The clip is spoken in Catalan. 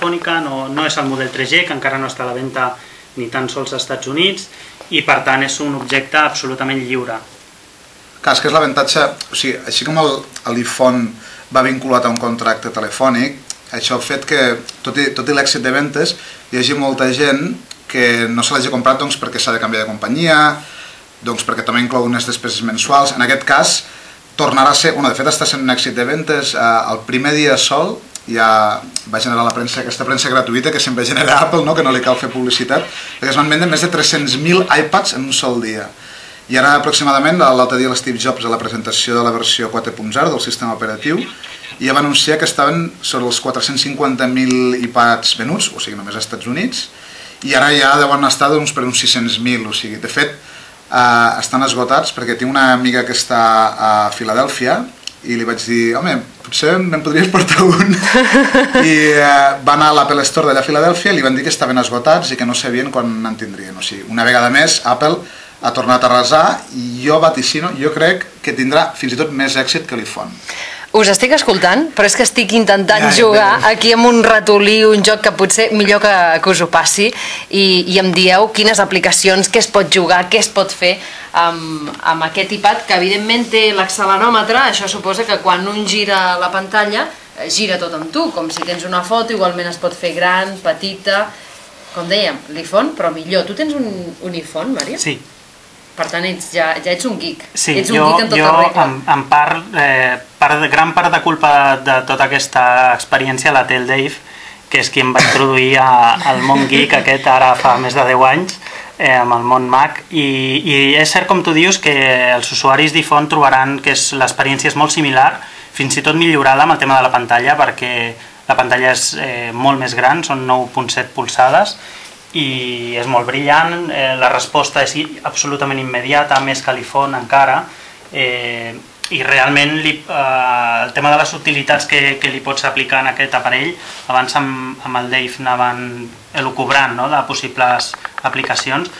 Telefònica, no és el model 3G, que encara no està a la venda ni tan sols als Estats Units, i per tant és un objecte absolutament lliure. Clar, és que és l'avantatge, o sigui, així com l'iPhone va vinculat a un contracte telefònic, això ha fet que, tot i l'èxit de ventes, hi hagi molta gent que no se l'hagi comprat perquè s'ha de canviar de companyia, perquè també inclou unes despeses mensuals. En aquest cas, tornarà a ser, de fet està sent un èxit de ventes, el primer dia sol ja va generar aquesta premsa gratuïta que sempre genera Apple, que no li cal fer publicitat, perquè es van vendre més de 300.000 iPads en un sol dia. I ara aproximadament, l'altre dia l'Steve Jobs a la presentació de la versió 4.0 del sistema operatiu ja va anunciar que estaven sobre els 450.000 iPads venuts, o sigui, només als Estats Units, i ara ja deuen estar per uns 600.000, o sigui, de fet, estan esgotats perquè tinc una amiga que està a Filadèlfia i li vaig dir, home, potser me'n podries portar un. I va anar a l'Apple Store d'allà a Filadèlfia i li van dir que estaven esgotats i que no sabien quan en tindrien. O sigui, una vegada més, Apple ha tornat a arrasar i jo vaticino, jo crec que tindrà fins i tot més èxit que l'iPhone. Us estic escoltant, però és que estic intentant jugar aquí amb un ratolí, un joc que potser millor que us ho passi, i em dieu quines aplicacions, què es pot jugar, què es pot fer amb aquest iPad, que evidentment té l'acceleròmetre. Això suposa que quan un gira la pantalla, gira tot amb tu, com si tens una foto, igualment es pot fer gran, petita, com dèiem, l'iPhone, però millor. Tu tens un iPhone, Mario? Sí. Per tant, ja ets un geek. Sí, jo en gran part de culpa de tota aquesta experiència la té el Dave, que és qui em va introduir al món geek aquest ara fa més de 10 anys, amb el món Mac, i és cert, com tu dius, que els usuaris d'iPhone trobaran que l'experiència és molt similar, fins i tot millorada amb el tema de la pantalla, perquè la pantalla és molt més gran, són 9.7 polzades, i és molt brillant, la resposta és absolutament immediata, més que l'iPhone encara, i realment el tema de les utilitats que li pots aplicar en aquest aparell, abans amb el Dave anaven elucubrant de possibles aplicacions,